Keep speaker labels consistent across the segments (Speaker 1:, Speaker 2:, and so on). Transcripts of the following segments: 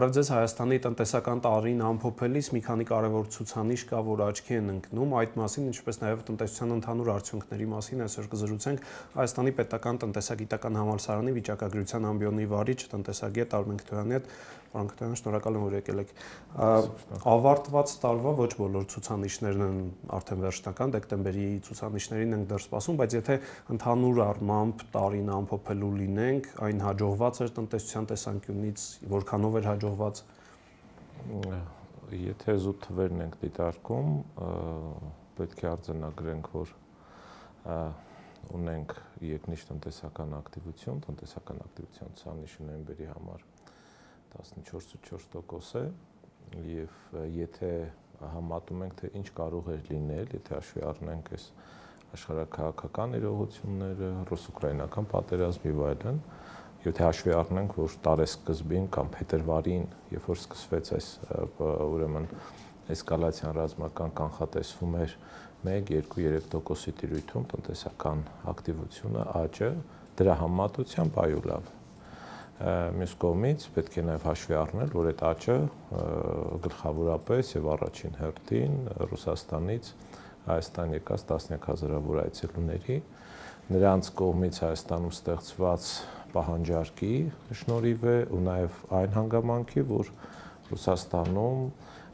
Speaker 1: Առայժմ ձեզ Հայաստանի տնտեսական տարին ամփոփելիս մի քանի կարևոր ցուցանիշ կա, որ աչքի են ընկնում, այդ մասին, ինչպես նաև տնտեսության ընդհանուր արդյունքների մասին այսօր կզրուցենք Հայաստանի պետական տնտեսագիտական համալսարանի վիճակագրության ամբիոնի վարիչ տնտեսագետ Արմեն Քթոյանի հետ։ Պարոն Քթոյան, շնորհակալ եմ, որ եկել եք։ Ավարտված տարվա ոչ բոլոր ցուցանիշներն են արդեն վերջնական, դեկտեմբերի ցուցանիշներին ենք դեռ սպասում, բայց եթե ընդհանուր առմամբ տարին ամփոփելու լինենք, այն հաջողված էր տնտեսության տեսանկյունից, որքանով էր հաջողված։
Speaker 2: Եթե զուտ թվերն ենք դիտարկում, պետք է արձանագրենք, որ ունենք երկնիշ տնտեսական ակտիվություն, տնտեսական ակտիվության ցուցանիշը նոյեմբերի համար 14.4% է, եւ եթե համատում ենք, թե ինչ կարող էր լինել, եթե հաշվի առնենք այս աշխարհաքաղաքական իրողությունները, ռուս-ուկրաինական պատերազմի եւ այլն, եթե հաշվի առնենք, որ տարեսկզբին կամ փետրվարին, երբ որ սկսվեց այս ուրեմն էսկալացիան ռազմական կանխատեսվում էր 1-2-3%-ի տիրույթում տնտեսական ակտիվությունը աճը, դրա համեմատությամբ այո լավ։ Մյուս կողմից պետք է նաև հաշվի առնել, որ այդ աճը գլխավորապես եւ առաջին հերթին Ռուսաստանից Հայաստան եկած տասնյակ հազարավոր այցելուների, նրանց կողմից Հայաստանում ստեղծված պահանջարկի շնորհիվ է ու նաև այն հանգամանքի, որ Ռուսաստանում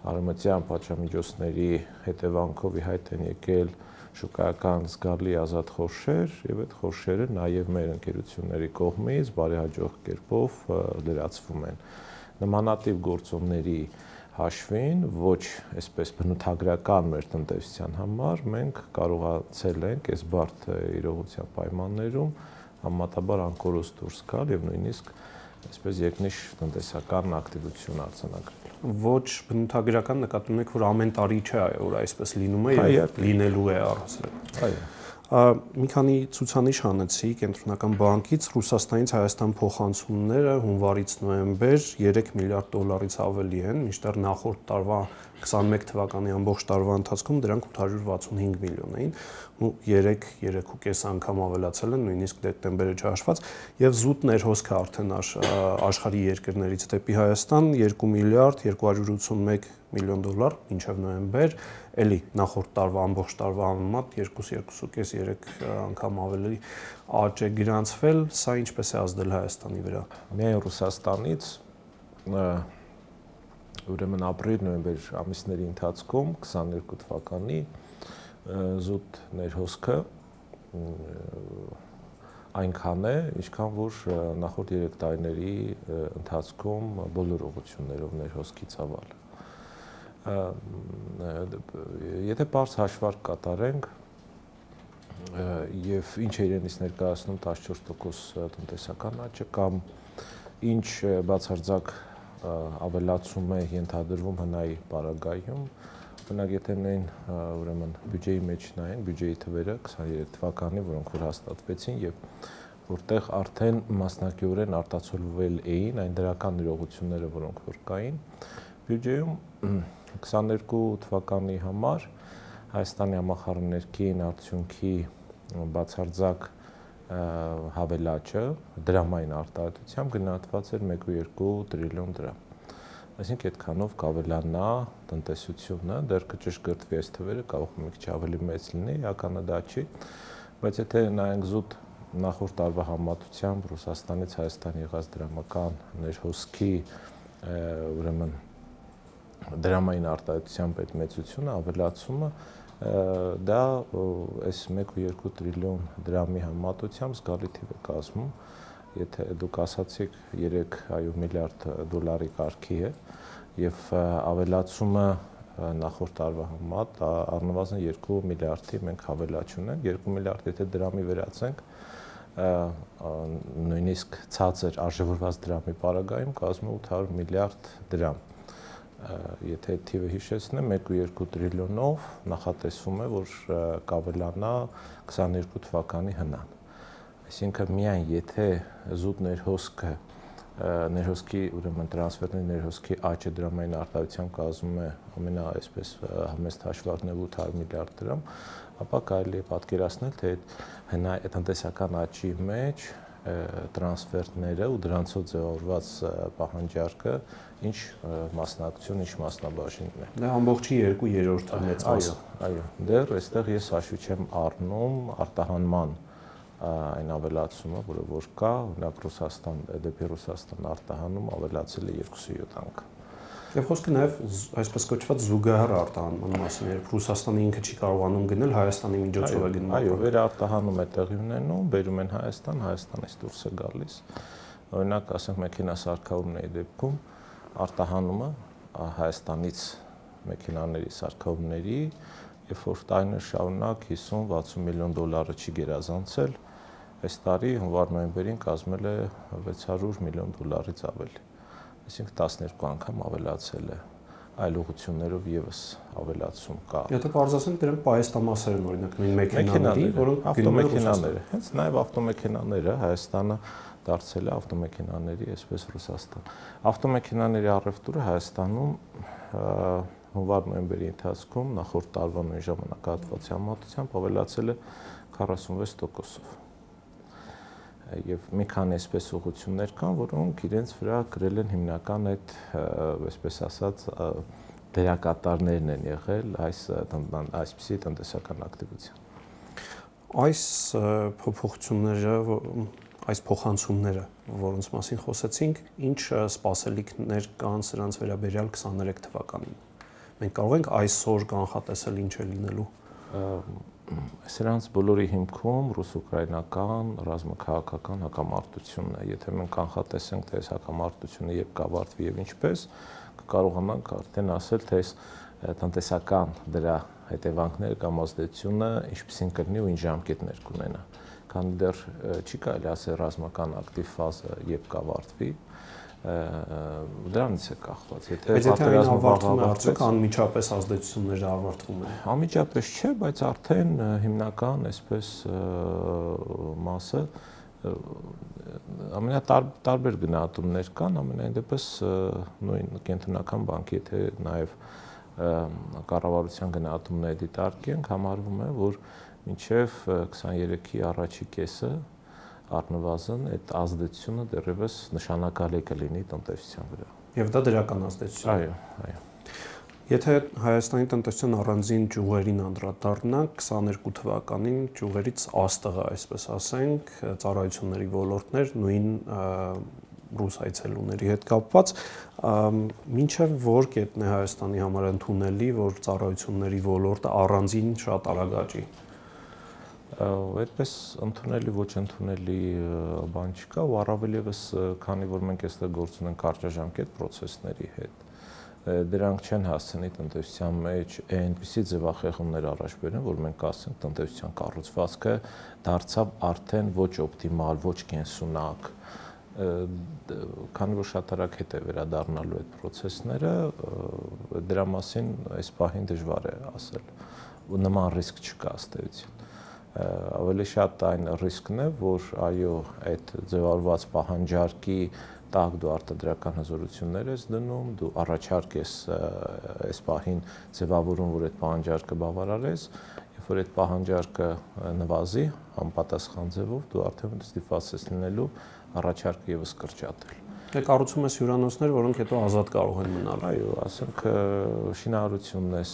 Speaker 2: արևմտյան պատժամիջոցների հետևանքով ի հայտ են եկել շուկայական զգալի ազատ խորշեր եւ այդ խորշերը նաեւ մեր ընկերությունների կողմից բարեհաջող կերպով լրացվում են։ Նմանատիպ գործոնների հաշվին ոչ այսպես բնութագրական մեր տնտեսության համար մենք կարողացել ենք այս բարդ իրողության պայմաններում համեմատաբար անկորոս դուրս գալ եւ նույնիսկ այսպես երկնիշ տնտեսական ակտիվություն արձանագրել։
Speaker 1: Ոչ բնութագրական նկատում եք, որ ամեն տարի չէ, որ այսպես լինում է եւ լինելու է առհասարակ։
Speaker 2: Այո։
Speaker 1: Մի քանի ցուցանիշ հանեցի Կենտրոնական բանկից, Ռուսաստանից Հայաստան փոխանցումները հունվարից նոյեմբեր 3 միլիարդ դոլարից ավելի են, մինչդեռ նախորդ տարվա 21 թվականի ամբողջ տարվա ընթացքում դրանք 865 միլիոն էին, ու 3.5 անգամ ավելացել են, նույնիսկ դեկտեմբերը չհաշված, եւ զուտ ներհոսքը արդեն աշխարհի երկրներից դեպի Հայաստան 2 միլիարդ 281 միլիոն դոլար մինչև նոյեմբեր, էլի նախորդ տարվա ամբողջ տարվա համեմատ 2.5-3 անգամ ավելի աճ է գրանցվել, սա ինչպես է ազդել Հայաստանի վրա։
Speaker 2: Միայն Ռուսաստանից ուրեմն ապրիլ-նոյեմբեր ամիսների ընթացքում 22 թվականի զուտ ներհոսքը այնքան է, ինչքան որ նախորդ 3 տարիների ընթացքում բոլոր ուղղություններով ներհոսքի ծավալը։ Եթե բարձ հաշվարկ կատարենք եւ ինչ է իրենից ներկայացնում 14% տնտեսական աճը կամ ինչ բացարձակ ավելացում է ենթադրվում հնայի պարագայում, օրինակ եթե նույն ուրեմն բյուջեի մեջ նայեն, բյուջեի թվերը 23 թվականի, որոնք որ հաստատվեցին եւ որտեղ արդեն մասնակիորեն արտացոլվել էին այն դրական իրողությունները, որոնք որ կային, բյուջեում 22 թվականի համար Հայաստանի համախառններքին արդյունքի բացարձակ հավելաճը դրամային արտահայտությամբ գնահատված էր 1.2 տրիլիոն դրամ։ Այսինքն այդքանով կավելանա տնտեսությունը, դեռ կճշգրտվի այս թվերը, կարող մի քիչ ավելի մեծ լինի, իրականը դա չի, բայց եթե նայենք զուտ նախորդ տարվա համեմատությամբ Ռուսաստանից Հայաստան եղած դրամական ներհոսքի ուրեմն դրամային արտահայտությամբ այդ մեծությունը, ավելացումը դա այս 1.2 տրիլիոն դրամի համեմատությամբ զգալի թիվ է կազմում, եթե դուք ասացիք 3 միլիարդ դոլարի կարգի է եւ ավելացումը նախորդ տարվա համեմատ առնվազն 2 միլիարդի մենք հավելաճ ունենք, 2 միլիարդ եթե դրամի վերածենք, նույնիսկ ցածր արժևորված դրամի պարագայում կազմում 800 միլիարդ դրամ։ Եթե թիվը հիշեցնեմ, 1.2 տրիլիոնով նախատեսվում է, որ կավելանա 22 թվականի հնան։ Այսինքն միայն եթե զուտ ներհոսքի ուրեմն տրանսֆերների ներհոսքի աճը դրամային արտահայտությամբ կազմում է ամենա այսպես համեստ հաշվարկներով 800 միլիարդ դրամ, ապա կարելի է պատկերացնել, թե այդ տնտեսական աճի մեջ տրանսֆերտները ու դրանցով ձևավորված պահանջարկը ինչ մասնակցություն, ինչ մասնաբաժինն է։
Speaker 1: Դա ամբողջի 2/3-ը մեծ մասը։
Speaker 2: Այո, դեռ այստեղ ես հաշվի չեմ առնում արտահանման այն ավելացումը, որը որ կա, օրինակ Ռուսաստան դեպի Ռուսաստան արտահանում ավելացել է 2.7 անգամ։
Speaker 1: Եվ խոսքը նաև այսպես կոչված զուգահեռ արտահանման մասին է, երբ Ռուսաստանը ինքը չի կարողանում գնել, Հայաստանի միջոցով է գնում։
Speaker 2: Այո, վերարտահանում է տեղի ունենում, բերում են Հայաստան, Հայաստանից դուրս է գալիս։ Օրինակ, ասենք մեքենասարքավորումների դեպքում արտահանումը Հայաստանից մեքենաների սարքավորումների, երբ որ տարիներ շարունակ 50-60 միլիոն դոլարը չի գերազանցել, այս տարի հունվար-նոյեմբերին կազմել է 600 միլիոն դոլարից ավելի։ Այսինքն 12 անգամ ավելացել է, այլ ուղղություններով եւս ավելացում կա։
Speaker 1: Եթե պարզասենք դրանք պայեստամասեր են, օրինակ նույն մեքենաների, որոնք
Speaker 2: ավտոմեքենաները, հենց նաեւ ավտոմեքենաները Հայաստանը դարձել է ավտոմեքենաների այսպես Ռուսաստան։ Ավտոմեքենաների առևտուրը Հայաստանում հունվար-նոյեմբերի ընթացքում նախորդ տարվա նույն ժամանակահատվածի համեմատությամբ ավելացել է 46%-ով։ Եվ մի քանի այսպես ուղղություններ կան, որոնք իրենց վրա գրել են հիմնական այդ, այսպես ասած, դերակատարներն են եղել այսպիսի տնտեսական ակտիվության։
Speaker 1: Այս փոփոխությունները, այս փոխանցումները, որոնց մասին խոսեցինք, ինչ սպասելիքներ կան սրանց վերաբերյալ 23 թվականին։ Մենք կարող ենք այսօր կանխատեսել ինչ է լինելու։
Speaker 2: Սրանց բոլորի հիմքում ռուս-ուկրաինական ռազմաքաղաքական հակամարտությունն է։ Եթե մենք կանխատեսենք, թե այս հակամարտությունը երբ կավարտվի եւ ինչպես, կկարողանանք արդեն ասել, թե այս տնտեսական դրա հետևանքները կամ ազդեցությունը ինչպեսին կլինի ու ինչ ժամկետներ կունենա։ Քանի դեռ չի կարելի ասել ռազմական ակտիվ ֆազը երբ կավարտվի, դրանից է կախված։
Speaker 1: Եթե պատերազմը ավարտվում է, արդյոք անմիջապես ազդեցությունները ավարտվում են։
Speaker 2: Անմիջապես չէ, բայց արդեն հիմնական այսպես մասը ամենատարբեր գնահատումներ կան, ամենայն դեպս նույն կենտրոնական բանկի, եթե նաև կառավարության գնահատումները դիտարկենք, համարվում է, որ մինչև 23-ի առաջի կեսը առնվազն այդ ազդեցությունը դեռևս նշանակալի կլինի տնտեսության վրա։
Speaker 1: Եվ դա դրական ազդեցություն է։
Speaker 2: Այո։
Speaker 1: Եթե Հայաստանի տնտեսության առանձին ճյուղերին անդրադառնանք, 22 թվականին ճյուղերից աստղը, այսպես ասենք, ծառայությունների ոլորտներ նույն ռուս այցելուների հետ կապված, մինչև որ կետն է Հայաստանի համար ընդունելի, որ ծառայությունների ոլորտը առանձին շատ արագ աճի։
Speaker 2: Այդպես ընդունելի ոչ ընդունելի բան չկա ու առավել եւս քանի որ մենք այստեղ գործ ունենք կարճաժամկետ process-ների հետ դրանք չեն հասցնի տնտեսության մեջ այնպիսի ձևախեղումներ առաջ բերեն որ մենք ասենք տնտեսության կառուցվածքը դարձավ արդեն ոչ օպտիմալ ոչ կենսունակ քանի որ շատ արագ հետ է վերադառնալու այդ process-ները դրա մասին այս պահին դժվար է ասել ու նման ռիսկ չկա ըստ էության ավելի շատ այն ռիսկն է, որ այո, այդ ձևավորված պահանջարկի տակ դու արտադրական հզորություններ ես դնում, դու առաջարկ ես այս պահին ձևավորում, որ այդ պահանջարկը բավարարես, երբ որ այդ պահանջարկը նվազի, համապատասխան ձևով, դու արդեն ստիպված ես լինելու առաջարկը եւս կրճատել։
Speaker 1: Դե կառուցում ես հյուրանոցներ, որոնք հետո ազատ կարող են մնալ։
Speaker 2: Այո, ասենք շինարարությունն ես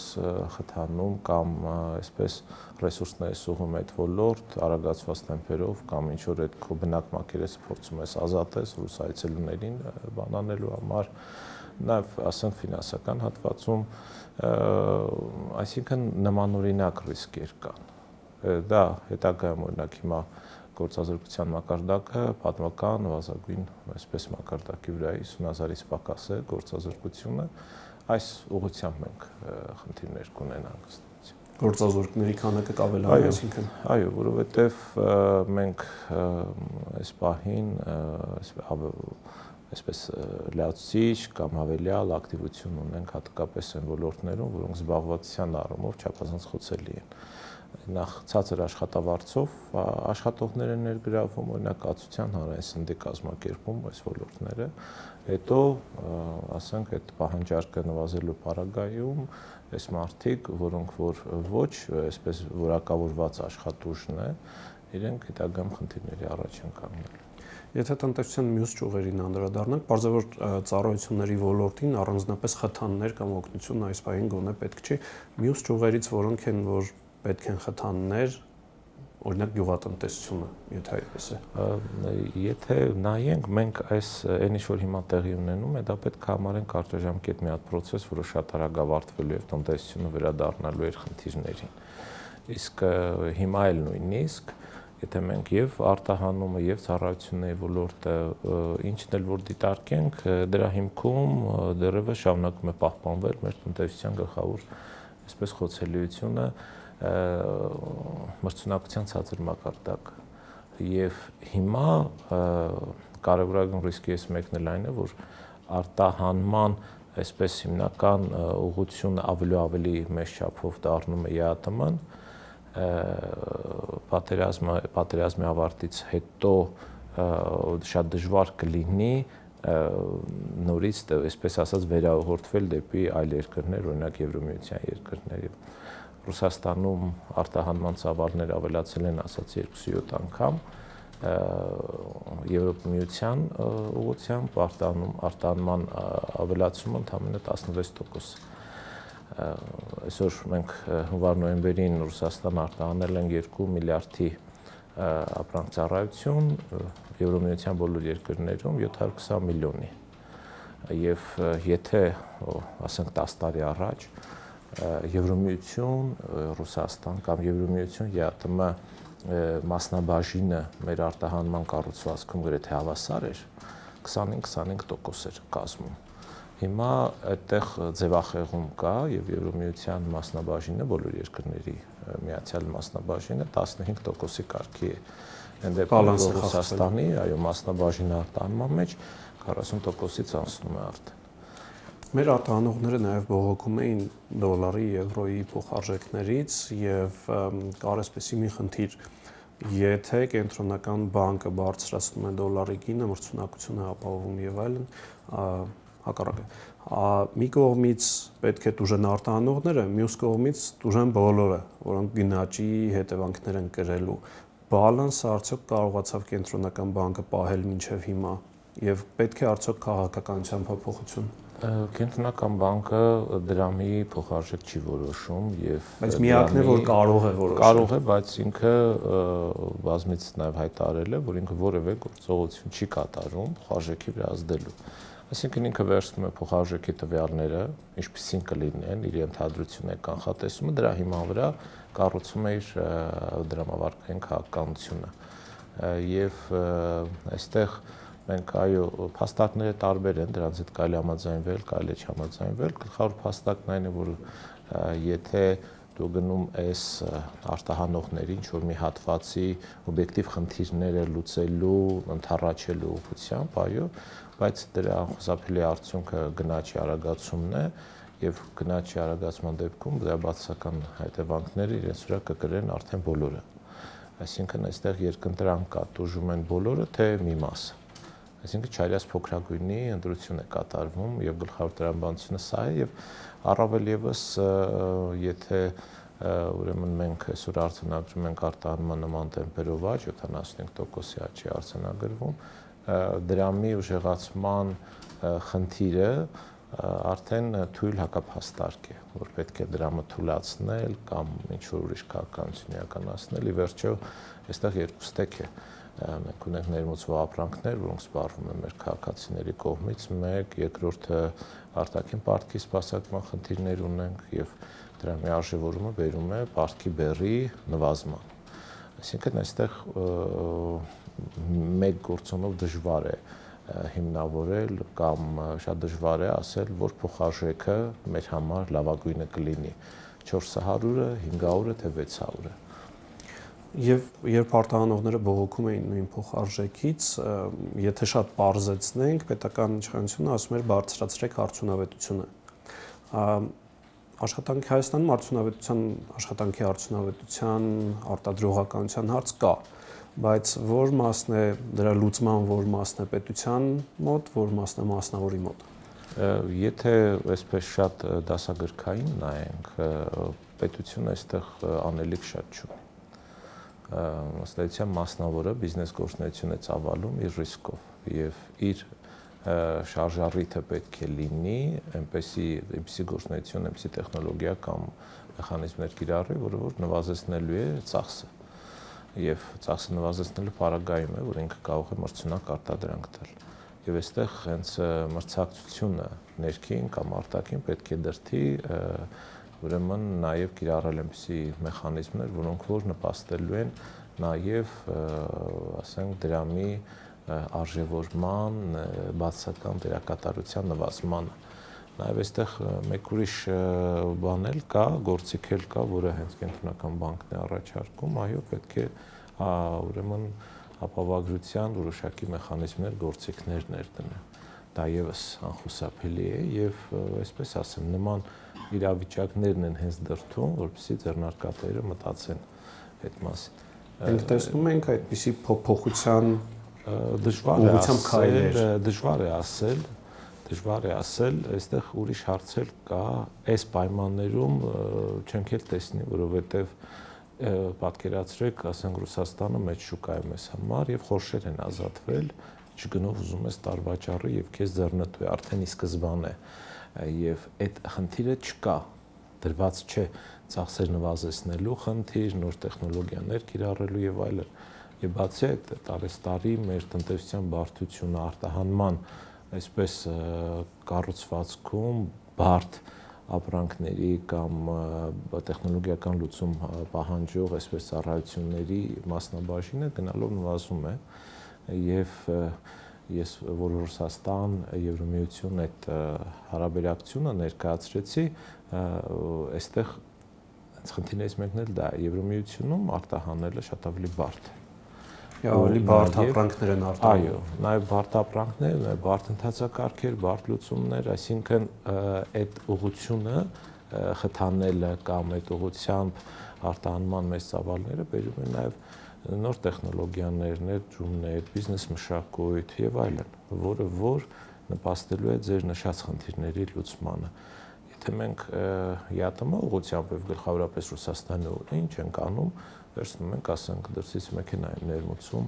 Speaker 2: խթանում կամ այսպես ռեսուրսներ ես ուղղում այդ ոլորտ արագացված տեմպերով կամ ինչ որ այդ քո բնակ մակերեսը փորձում ես ազատես ռուս այցելուներին բանանելու համար, նաև ասենք ֆինանսական հատվածում, այսինքն նմանօրինակ ռիսկեր կան։ Դա հետագայում օրինակ հիմա գործազրկության մակարդակը պատմական նվազագույն այսպես մակարդակի վրա 50,000-ից պակաս է գործազրկությունը այս ուղղությամբ մենք խնդիրներ կունենանք
Speaker 1: գործազուրկների քանակը կավելանա այսինքն
Speaker 2: այո որովհետև մենք այս պահին այսպես լացիչ կամ հավելյալ ակտիվություն ունենք հատկապես այն ոլորտներում որոնք զբաղվածության առումով չափազանց խոցելի են նախ ցածր աշխատավարձով աշխատողներ են ներգրավում օրինակ կացության հանրային սննդի կազմակերպում այս ոլորտները հետո ասենք այդ պահանջարկը նվազելու պարագայում այս մարդիկ որոնք որ ոչ այսպես որակավորված աշխատուժն է իրենք հետագայում խնդիրների առաջ են կանգնելու
Speaker 1: Եթե տնտեսության մյուս ճյուղերին անդրադառնանք, բարձր ծառայությունների ոլորտին առանձնապես խթաններ կամ օգնություն այս պահին գոնե պետք չի։ Մյուս ճյուղերից որոնք են, որ պետք են խթաններ, օրինակ գյուղատնտեսությունը, եթե այդպես է։
Speaker 2: Եթե նայենք, մենք այս այն ինչ որ հիմա տեղի ունենում է, դա պետք է համարենք կարճաժամկետ մի հատ process, որը շատ արագ ավարտվելու է, տնտեսությունը վերադառնալու է խնդիրներին։ Իսկ հիմա էլ նույնիսկ եթե մենք եւ արտահանումը եւ ծառայությունների ոլորտը ինչն էլ որ դիտարկենք, դրա հիմքում դեռևս շարունակում է պահպանվել մեր տնտեսության գլխավոր այսպես խոցելիությունը մրցունակության ցածր մակարդակը։ Եվ հիմա կարևորագույն ռիսկից մեկն էլ այն է, որ արտահանման այսպես հիմնական ուղղությունը ավելի մեծ չափով դառնում է ԵԱՏՄ-ն, պատերազմի ավարտից հետո շատ դժվար կլինի նորից այսպես ասած վերահորդվել դեպի այլ երկրներ, օրինակ Եվրոմիության երկրներ։ Ռուսաստանում արտահանման ծավալները ավելացել են, ասած 2-7 անգամ, Եվրոմիության ուղղությամբ արտահանման ավելացումը ընդամենը 16%։ Այսօր մենք հունվար-նոյեմբերին Ռուսաստան արտահանել են 2 միլիարդի ապրանք ծառայություն, Եվրոմիության բոլոր երկրներում 720 միլիոնի։ Եվ եթե, ասենք 10 տարի առաջ Եվրոմիություն, Ռուսաստան կամ Եվրոմիություն ԵԱՏՄ մասնաբաժինը մեր արտահանման կառուցվածքում գրեթե հավասար էր, 25% էր կազմում։ Հիմա այդտեղ ձևախեղում կա եւ Եվրոմիության մասնաբաժինը բոլոր երկրների միացյալ մասնաբաժինը 15%-ի կարգի է։ Այն դեպքում Ռուսաստանի, այո, մասնաբաժինը արտահանման մեջ 40%-ից անցնում է արդեն։
Speaker 1: Մեր արտահանողները նաև բողոքում էին դոլարի, եվրոյի փոխարժեքներից եւ կար այսպեսի մի խնդիր, եթե կենտրոնական բանկը բարձրացնում է դոլարի գինը, մրցունակությունը ապահովում եւ այլն, հակառակը։ Մի կողմից պետք է տուժեն արտահանողները, մյուս կողմից տուժեն բոլորը, որոնք գնաճի հետևանքներ են կրելու։ Բալանսը արդյոք կարողացավ կենտրոնական բանկը պահել մինչև հիմա եւ պետք է արդյոք քաղաքականության փոփոխություն։
Speaker 2: Կենտրոնական բանկը դրամի փոխարժեք չի որոշում եւ
Speaker 1: բայց միակն է որ կարող է որոշել։
Speaker 2: Կարող է, բայց ինքը բազմից նաեւ հայտարարել է, որ ինքը որևէ գործողություն չի կատարում փոխարժեքի վրա ազդելու։ Այսինքն ինքը վերցնում է փոխարժեքի տվյալները, ինչպիսին կլինեն, իր ենթադրությունը, կանխատեսումը, դրա հիման վրա կառուցում է իր դրամավարկային քաղաքականությունը։ Եվ այստեղ մենք այո, փաստարկները տարբեր են, դրանց հետ կարելի համաձայնվել, կարելի չհամաձայնվել, գլխավոր փաստարկն այն է, որ եթե դու գնում ես արտահանողների ինչ-որ մի հատվածի օբյեկտիվ խնդիրները լուծելու, ընդառաջելու ուղղությամբ, այո, բայց դրա անխուսափելի արդյունքը գնաճի արագացումն է եւ գնաճի արագացման դեպքում դրա բացասական հետևանքները իրենց վրա կկրեն արդեն բոլորը։ Այսինքն այստեղ երկընտրանք կա, տուժում են բոլորը, թե մի մասը։ Այսինքն չարյաս փոքրագույնի ընտրություն է կատարվում եւ գլխավոր տրամաբանությունը սա է եւ առավել եւս եթե ուրեմն մենք այսօր արձանագրում ենք արտահանման նման տեմպերով աճ 75%-ի աճի արձանագրվում, դրամի ուժեղացման խնդիրը արդեն թույլ հակափաստարկ է, որ պետք է դրամը թույլացնել կամ ինչ-որ ուրիշ քաղաքականություն իրականացնել, ի վերջո այստեղ երկու ստեկ է։ Մենք ունենք ներմուծվող ապրանքներ, որոնք սպառվում են մեր քաղաքացիների կողմից, մեկ, երկրորդը արտաքին պարտքի սպասարկման խնդիրներ ունենք եւ դրամի արժեվորումը բերում է պարտքի բեռի նվազման։ Այսինքն այստեղ մեկ գործոնով դժվար է հիմնավորել կամ շատ դժվար է ասել, որ փոխարժեքը մեր համար լավագույնը կլինի 400-ը, 500-ը, թե 600-ը։
Speaker 1: Եվ երբ արտահանողները բողոքում էին նույն փոխարժեքից, եթե շատ պարզեցնենք, պետական իշխանությունը ասում էր բարձրացրեք արդյունավետությունը։ Աշխատանքի Հայաստանում աշխատանքի արդյունավետության արտադրողականության հարց կա, բայց որ մասն է դրա լուծման, որ մասն է պետության մոտ, որ մասն է մասնավորի մոտ։
Speaker 2: Եթե այսպես շատ դասագրքային նայենք, պետությունը այստեղ անելիք շատ չունի։ ըստ էության մասնավորը բիզնես գործունեություն է ծավալում իր ռիսկով եւ իր շարժառիթը պետք է լինի այնպեսի գործունեություն, այնպեսի տեխնոլոգիա կամ մեխանիզմներ կիրառի, որը որ նվազեցնելու է ծախսը եւ ծախսը նվազեցնելու պարագայում է, որ ինքը կարող է մրցունակ արտադրանք տալ։ Եվ այստեղ հենց մրցակցությունը ներքին կամ արտաքին պետք է դրթի ուրեմն նաև կիրառել այնպիսի մեխանիզմներ, որոնք որ նպաստելու են նաև, ասենք, դրամի արժևորման, բացասական դերակատարության նվազմանը։ Նաև այստեղ մեկ ուրիշ բան էլ կա, գործիք էլ կա, որը հենց կենտրոնական բանկն է առաջարկում, այո, պետք է ուրեմն ապավագրության որոշակի մեխանիզմներ, գործիքներ ներդնել։ Դա եւս անխուսափելի է եւ այսպես ասեմ, նման իրավիճակներն են հենց դրթում, որպեսզի ձեռնարկատերը մտածեն այդ մասին։
Speaker 1: Մենք տեսնում ենք այդպիսի փոփոխության
Speaker 2: դժվար է ասել, այստեղ ուրիշ հարց էլ կա, այս պայմաններում չենք էլ տեսնի, որովհետեւ պատկերացրեք, ասենք Ռուսաստանը մեծ շուկա է մեզ համար եւ խորշեր են ազատվել, չգնով ուզում ես տարվաճառը եւ քեզ ձեռնտու է արդեն ի սկզբանե եւ այդ խնդիրը չկա, դրված չէ ծախսեր նվազեցնելու խնդիր, նոր տեխնոլոգիաներ կիրառելու եւ այլն։ Եվ բացի այդ տարեստարի մեր տնտեսության բարդությունը արտահանման այսպես կառուցվածքում բարդ ապրանքների կամ տեխնոլոգիական լուծում պահանջող այսպես ծառայությունների մասնաբաժինը գնալով նվազում է եւ ես որ Ռուսաստան, Եվրամիություն այդ հարաբերակցությունը ներկայացրեցի, այստեղ խնդիրներից մեկն էլ դա է, Եվրամիությունում արտահանելը շատ ավելի բարդ է։
Speaker 1: Ավելի բարդ ապրանքներ են արտահանում։
Speaker 2: Այո, նաև բարդ ապրանքներ, նաև բարդ ընթացակարգեր, բարդ լուծումներ, այսինքն այդ ուղղությունը խթանելը կամ այդ ուղղությամբ արտահանման մեծ ծավալները բերում են նաև նոր տեխնոլոգիաներ, ներդրումներ, բիզնես մշակույթ եւ այլն, որը որ նպաստելու է ձեր նշած խնդիրների լուծմանը։ Եթե մենք ԵԱՏՄ ուղղությամբ եւ գլխավորապես Ռուսաստանի ինչ ենք անում, վերցնում ենք, ասենք, դրսից մեքենա են ներմուծում,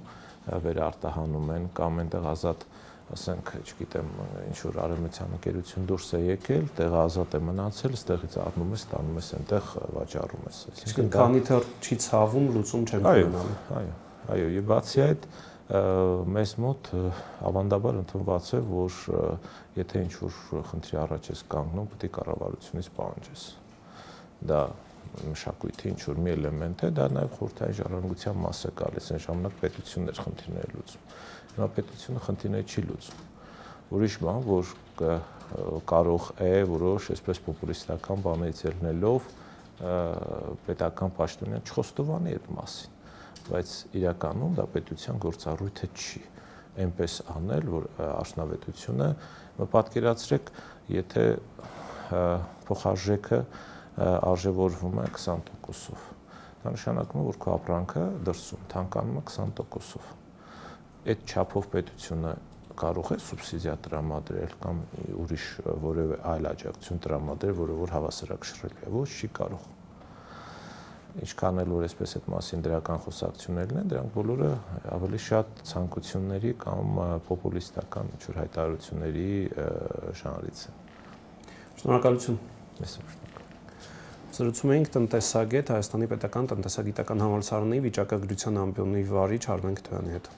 Speaker 2: վերարտահանում են կամ այնտեղ ազատ, ասենք, չգիտեմ, ինչ որ արևմտյան ընկերություն դուրս է եկել, տեղը ազատ է մնացել, ստեղից առնում ես, տանում ես այնտեղ վաճառում ես։
Speaker 1: Այսինքն քանի դեռ չի ցավում, լուծում չեն ունենալու։
Speaker 2: Այո, եւ բացի այդ մեզ մոտ ավանդաբար ընդունված է, որ եթե ինչ որ խնդրի առաջ ես կանգնում, պետք է կառավարությունից պահանջես։ Դա մշակույթի ինչ որ մի էլեմենտ է, դա նաև խորհրդային ժառանգության մաս է գալիս, այն ժամանակ պետությունն էր խնդիրները լուծում։ Հիմա պետությունը խնդիրները չի լուծում։ Ուրիշ բան, որ կարող է որոշ այսպես պոպուլիստական բաներից ելնելով պետական պաշտոնյան չխոստովանի այդ մասին, բայց իրականում դա պետության գործառույթը չի։ Այնպես անել, որ արդյունավետությունը պատկերացրեք, եթե փոխարժեքը արժևորվում է 20%-ով։ Դա նշանակում է, որ քո ապրանքը դրսում թանկանում է 20%-ով։ Այդ չափով պետությունը կարող է սուբսիդիա տրամադրել կամ ուրիշ որևէ այլ աջակցություն տրամադրել, որը որ հավասարակշռելի է, ոչ չի կարող։ Ինչքան էլ որ այսպես այդ մասին դրական խոսակցություններն են, դրանք բոլորը ավելի շատ ցանկությունների կամ պոպուլիստական ինչ-որ հայտարարությունների շնորհիվ են։
Speaker 1: Շնորհակալություն։
Speaker 2: Մեսուրջ։
Speaker 1: Զրուցում էինք տնտեսագետ Հայաստանի պետական տնտեսագիտական համալսարանի վիճակագրության ամբիոնի վարիչ Արմեն Քթոյանի հետ։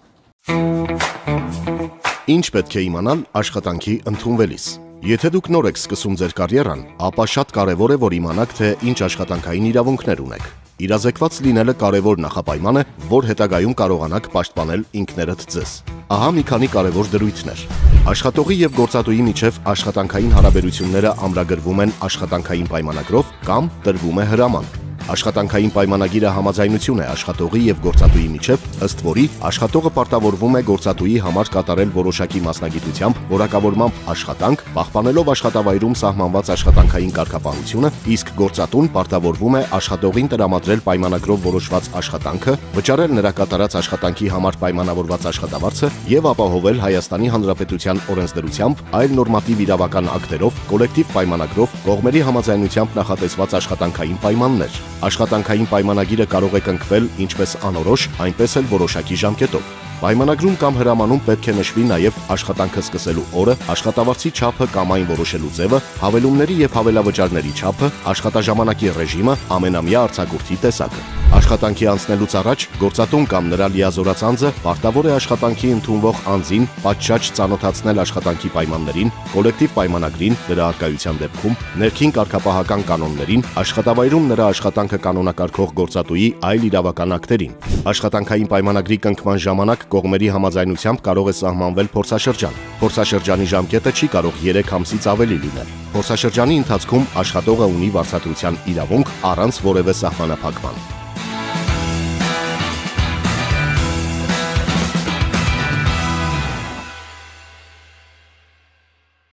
Speaker 3: Ինչ պետք է իմանալ աշխատանքի ընդունվելիս։ Եթե դուք նոր եք սկսում ձեր կարիերան, ապա շատ կարևոր է, որ իմանաք, թե ինչ աշխատանքային իրավունքներ ունեք։ Իրազեկված լինելը կարևոր նախապայման է, որ հետագայում կարողանաք պաշտպանել ինքներդ ձեզ։ Ահա մի քանի կարևոր դրույթներ։ Աշխատողի եւ գործատուի միջև աշխատանքային հարաբերությունները ամրագրվում են աշխատանքային պայմանագրով կամ տրվում է հրաման։ Աշխատանքային պայմանագիրը համաձայնություն է աշխատողի եւ գործատուի միջև, ըստ որի աշխատողը պարտավորվում է գործատուի համար կատարել որոշակի մասնագիտությամբ որակավորմամբ աշխատանք, պահպանելով աշխատավայրում սահմանված աշխատանքային կարգապահությունը, իսկ գործատուն պարտավորվում է աշխատողին տրամադրել պայմանագրով որոշված աշխատանքը, վճարել նրա կատարած աշխատանքի համար պայմանավորված աշխատավարձը եւ ապահովել Հայաստանի Հանրապետության օրենսդրությամբ, այլ նորմատիվ իրավական ակտերով, կոլեկտիվ պայմանագրով, կողմերի համաձայնությամբ նախատեսված աշխատանքային պայմաններ։ Աշխատանքային պայմանագիրը կարող է կնքվել ինչպես անորոշ, այնպես էլ որոշակի ժամկետով։ Պայմանագրում կամ հրամանում պետք է նշվի նաև աշխատանքը սկսելու օրը, աշխատավարձի չափը կամ այն որոշելու ձևը, հավելումների եւ հավելավճարների չափը, աշխատաժամանակի ռեժիմը, ամենամյա արձակուրդի տեսակը։ Աշխատանքի անցնելուց առաջ գործատուն կամ նրա լիազորած անձը պարտավոր է աշխատանքի ընդունվող անձին պատշաճ ծանոթացնել աշխատանքի պայմաններին, կոլեկտիվ պայմանագրին, դրա առկայության դեպքում, ներքին կարգապահական կանոններին, աշխատավայրում նրա աշխատանքը կանոնակարգող գործատուի այլ իրավական ակտերին։ Աշխատանքային պայմանագրի կնքման ժամանակ կողմերի համաձայնությամբ կարող է սահմանվել փորձաշրջան։ Փորձաշրջանի ժամկետը չի կարող 3 ամսից ավելի լինել։ Փորձաշրջանի ընթացքում աշխատողը ունի վարձատրության իրավունք առանց որևէ սահմանափակման։